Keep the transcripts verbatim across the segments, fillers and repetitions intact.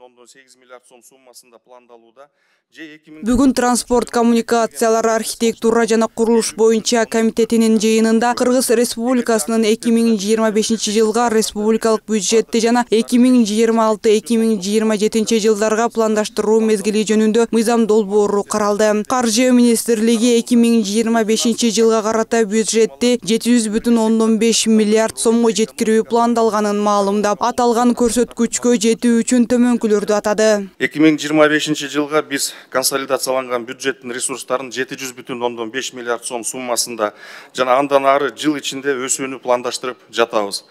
бүтүн ондон сегиз миллиард сом суммасында пландалууда. Бүгүн транспорт, коммуникациялар, архитектура жана курулуш боюнча комитетинин жыйынында Кыргыз Республикасынын эки миң жыйырма бешинчи жылга республикалык бюджетти жана эки миң жыйырма алты эки миң жыйырма жетинчи жылдарга пландаштыруу мезгили жөнүндө мыйзам долбоору каралды. Каржы министрлиги эки миң жыйырма бешинчи жылга карата бюджетти жети жүз бүтүн ондон беш миллиард сомго жеткирүү пландалганын маалымдап, аталган көрсөткүчкө жетүү үчүн төмөнкүлөрдү атады. эки миң жыйырма бешинчи жылга биз консолидацияланган бюджеттин ресурстарын жети жүз бүтүн ондон беш миллиард сом суммасында жана андан ары жыл ичинде өсүүнү пландаштырып жатабыз.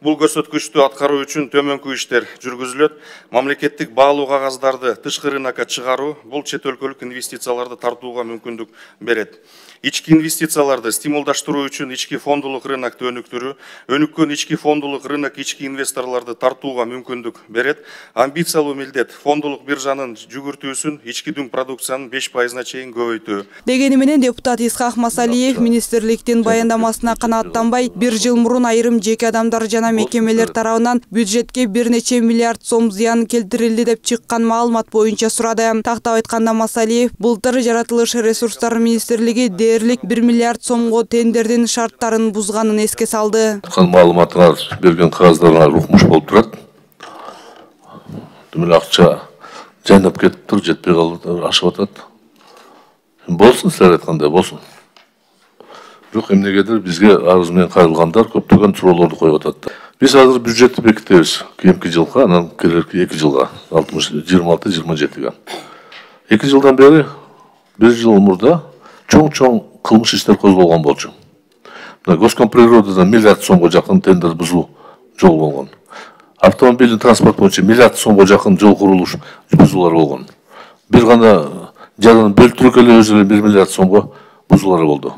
Бул көрсөткүчтү аткаруу үчүн төмөнкү иштер жүргүзүлөт. Мамлекеттик баалуу кагаздарды тышкы рынокко чыгаруу бул чет өлкөлүк инвестицияларды тартууга мүмкүндүк берет. Ички инвестицияларды стимулдаштыруу үчүн ички фондулук рынокту өнүктүрүү, өнүккөн ички фондулук рынок ички инвесторлорду тартууга мүмкүндүк берет. Амбициялуу милдет фондулук биржанын жүгүртүүсүн ички дүң продукциянын беш пайызына чейин көбөйтүү. Дегени менен депутат Исхак Масалиев министрликтин баяндамасына канааттанбай, бир жыл мурун айрым жеке адамдар жана мекемелер тарабынан бюджетке бир нече миллиард сом зыян келтирилди деп чыккан маалымат боюнча сурады. Тактап айтканда Масалиев былтыр жаратылыш ресурстары министрлиги дээрлик бир миллиард сомго тендердин шарттарын бузганын эске салды. Маалыматыңар берген кагаздарыңар укмуш болуп турат. Демек акча жайнап кетиптир, жетпей калып ашып атат. Болсун, силер айткандай болсун. Бирок эмнегедир бизге арыз менен кайрылгандар көптөгөн суроолорду коюп атат. Биз азыр бюджетти бекитебиз. Кийинки жылга, анан келерки эки жылга, жыйырма алты жыйырма жетиге. эки жылдан бери, бир жыл мурда чоң-чоң кылмыш иштер козголгон болчу. Госкомприродада миллиард сомго жакын тендер бузуу жол болгон. Автомобилдин транспорт боюнча миллиард сомго жакын жол курулуш бузуулар болгон. Бир гана жаран бөлтүрүк эле өзү эле бир миллиард сомго бузуулар болду.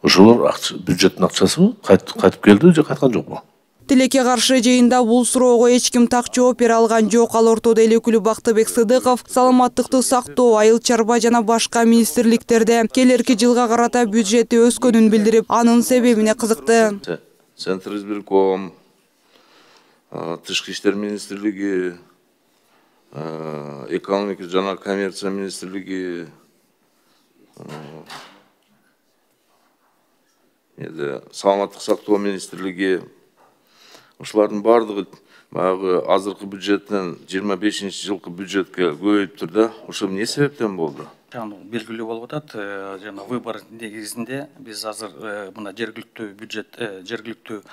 Ошолор бюджеттин акчасы кайтып келди же кайткан жокпу? Тилекке каршы жыйында бул суроого эч ким так жооп бере алган жок. Ал ортодо эл өкүлү Бактыбек Сыдыков саламаттыкты сактоо, айыл чарба жана башка министрликтерде келерки жылга карата бюджети өскөнүн билдирип, анын себебине кызыкты. Центр избирком, Тышкы иштер министрлиги, экономика жана коммерция министрлиги, саламаттык сактоо министрлиги, ушулардын баардыгы баягы азыркы бюджеттен жыйырма бешинчи жылкы бюджетке көбөйүптүр да. Ошол эмне себептен болду? Белгилүү болуп атат. Жана выбор негизинде биз азыр мына жергиликтүү бюджет, жергиликтүү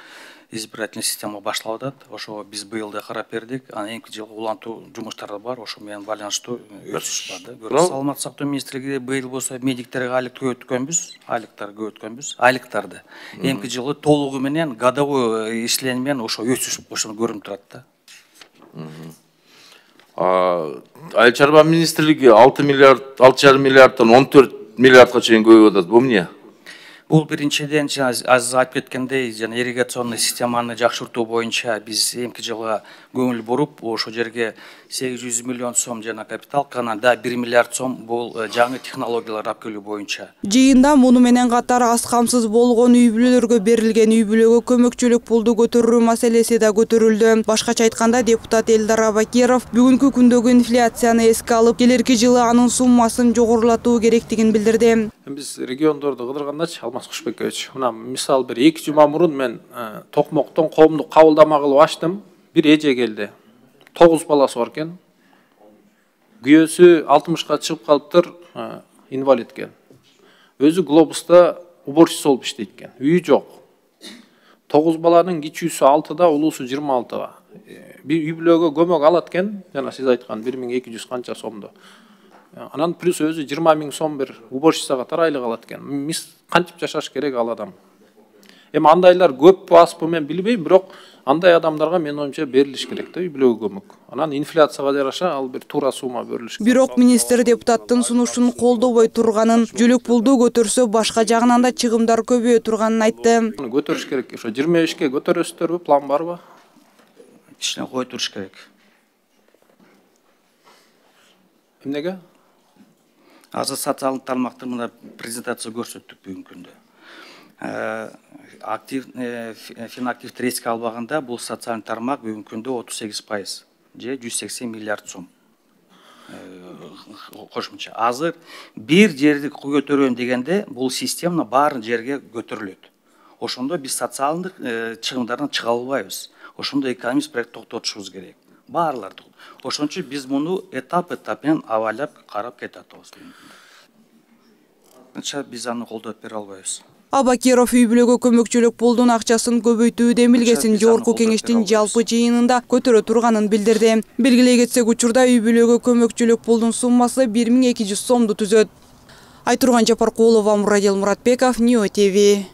избирательный система башталып атат. Ошого биз быйыл да карап бердик. Анан эки жылга улантуу жумуштары бар. Ошо менен байланыштуу өсүш бар да. Саламаттык сактоо министрлиги быйыл болсо медиктерге айлык көбөйткөнбүз, айлыктар көбөйткөнбүз, айлыктарды. Эмки жылы толугу менен годовой ишленме менен ошо өсүш ошону көрүнүп турат да. Айыл чарба министрлиги алты миллиард, алты жарым миллиарддан он төрт миллиардга чейин көбөйүп атат. Бул эмне? Бул биринчиден аз айтып кеткендей, жана ирригационный системаны жакшыртуу боюнча биз эмки жылга көңүл буруп, ошол жерге сегиз жүз миллион сом жана капиталка, анан да бир миллиард сом бул жаңы технологиялар алып келүү боюнча. Жыйында муну менен катар аз камсыз болгон үй бүлөлөргө берилген үй бүлөгө көмөкчүлүк пулду көтөрүү маселеси да көтөрүлдү. Башкача айтканда депутат Элдар Абакиров бүгүнкү күндөгү инфляцияны эске алып, келерки жылы анын суммасын жогорулатуу керектигин билдирди. Биз региондорду кыдыргандачы, Алмаз Кушбекович, мына мисалы бир эки жума мурун мен Токмоктон коомдук кабылдама кылып ачтым. Бир эже келди. тогуз баласы бар экен. Күйөөсү алтымышка чыгып калыптыр, инвалид экен. Өзү глобуста уборщица болуп иштейт экен. Үйү жок. тогуз баланын кичүүсү алтыда, улуусу жыйырма алтыда. Бир үй бүлөгө көмөк алат экен, жана сиз айткан бир миң эки жүз канча сомду. Анан плюс өзү жыйырма миң сом бир уборщицага тарайлык алат экен. Мис кантип жашаш керек ал адам? Эми андайлар көппү азбы мен билбейм, бирок андай адамдарга менин оюмча берилиш керек да үй бүлөгө көмөк. Анан инфляцияга жараша ал бир туура сумма берилиш керек. Бирок министр депутаттын сунушун колдобой турганын, жүлүк пулду көтөрсө башка жагынан да чыгымдар көбөйө турганын айтты. Көтөрүш керек. Ошо жыйырма бешке көтөрөсүздөрбү, план барбы? Кичине кое туруш керек. Эмнеге? Азыр социалдык тармакты мына презентация көрсөттүк бүгүнкү күндө. Актив, финактивди эске албаганда бул социалдык тармак бүгүнкү күндө отуз сегиз пайыз же жүз сексен миллиард сом. кошумча азыр бир жерди көтөрөм дегенде бул система баарын жерге көтөрүлөт. Ошондо биз социалдык чыгымдардан чыга албайбыз. Ошондо экономист проект токтотушубуз керек. Баарларды. Ошон үчүн биз муну этап этап менен абайлап карап кете атабыз. Биз аны колдоп бере албайбыз. Абакиров үй бүлөгө көмөкчүлүк пулдун акчасын көбөйтүү демилгесин жогорку кеңештин жалпы жыйынында көтөрө турганын билдирди. Белгилей кетсек, учурда үй бүлөгө көмөкчүлүк пулдун суммасы бир миң эки жүз сомду түзөт. Айтурган Жапаркулова, Мурадил Муратбеков, Нио ТВ.